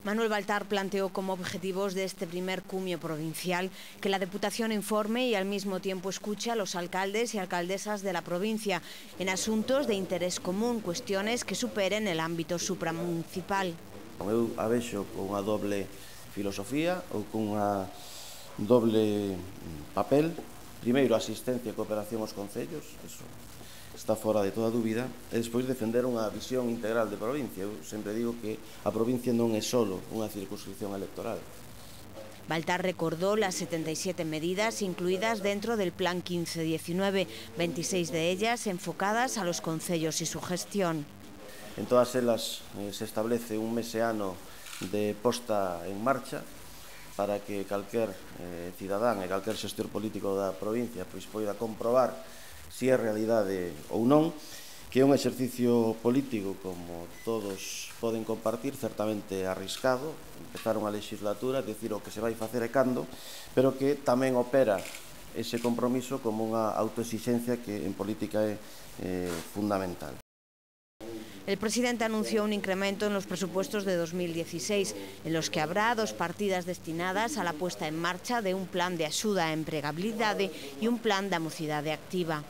Manuel Baltar planteó como objetivos de este primer cumio provincial que la Deputación informe y al mismo tiempo escuche a los alcaldes y alcaldesas de la provincia en asuntos de interés común, cuestiones que superen el ámbito supramunicipal. Eu a vexo con unha doble filosofía ou con unha doble papel. Primeiro, asistencia e cooperación aos concellos, eso está fora de toda dúbida, e despois defender unha visión integral de provincia. Eu sempre digo que a provincia non é solo unha circunscripción electoral. Baltar recordó las 77 medidas incluidas dentro del Plan 15-19, 26 de ellas enfocadas a los concellos y su gestión. En todas elas se establece un meseano de posta en marcha para que calquer cidadán e calquer xestor político da provincia poida comprobar se é realidade ou non, que é un exercicio político, como todos poden compartir, certamente arriscado, empezar unha legislatura, decir o que se vai facer e cando, pero que tamén opera ese compromiso como unha autoexixencia que en política é fundamental. El presidente anunció un incremento en los presupuestos de 2016, en los que habrá 2 partidas destinadas a la puesta en marcha de un plan de axuda á empregabilidade e un plan da mocidade activa.